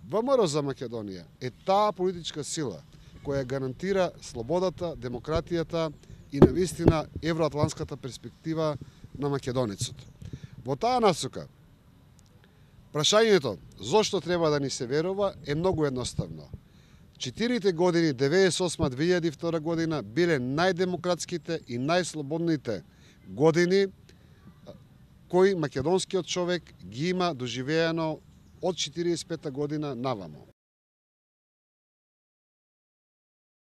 ВМРО за Македонија е таа политичка сила која гарантира слободата, демократијата и навистина евроатлантската перспектива на македонецот. Во таа насока, прашањето зошто треба да ни се верува е многу едноставно. 4 години 98-2002 година биле најдемократските и најслободните години кои македонскиот човек ги има доживеано од 45 година навамо.